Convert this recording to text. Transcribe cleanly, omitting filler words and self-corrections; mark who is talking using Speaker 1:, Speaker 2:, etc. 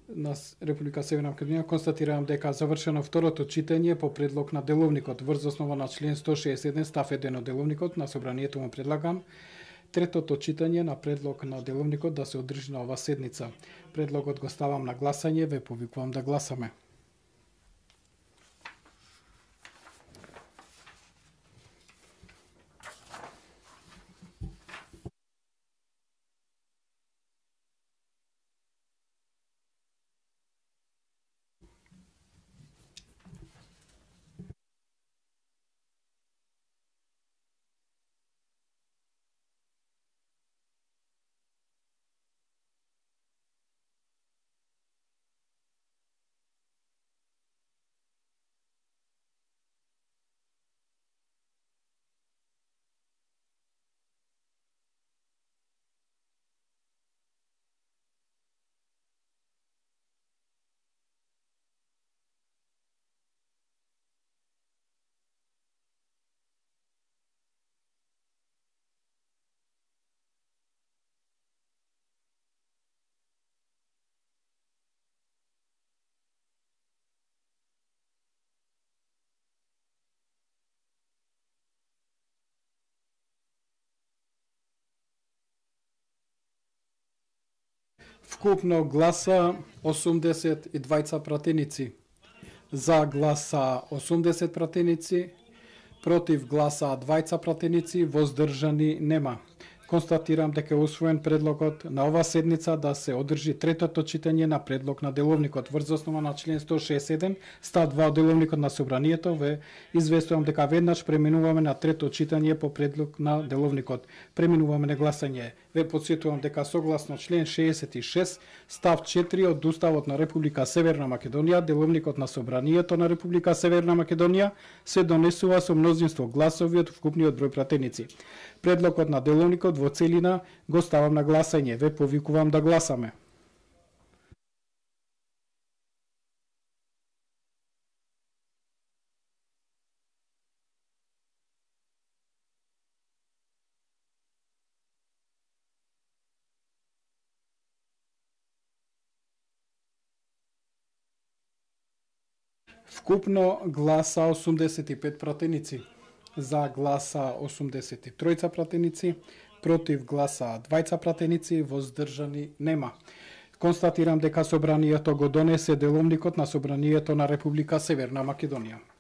Speaker 1: на Република Северна Македонија, констатирам дека завршено второто читање по предлог на деловникот врз основа на член 161 став 1 од деловникот на собранието. Му предлагам третото читање на предлог на деловникот да се одржи на ова седница. Предлогот го ставам на гласање, ве повикувам да гласаме. Вкупно гласа 82 пратеници, за гласа 80 пратеници, против гласа 20 пратеници, воздржани нема. Констатирам дека е усвоен предлогот на ова седница да се одржи третото читање на предлог на деловникот врз основа на член 167 став 2 од деловникот на собранието. Ве известувам дека веднаш преминуваме на трето читање по предлог на деловникот. Преминуваме на гласање. Ве потсетувам дека согласно член 66 став 4 од Уставот на Република Северна Македонија, деловникот на собранието на Република Северна Македонија се донесува со мнозинство гласови од вкупниот број пратеници. Предлогот на деловникот во целина го ставам на гласање. Ве повикувам да гласаме. Вкупно гласа 85 пратеници, за гласа 83 пратеници, против гласа 20 пратеници, воздржани нема. Констатирам дека собранието го донесе деловникот на собранието на Република Северна Македонија.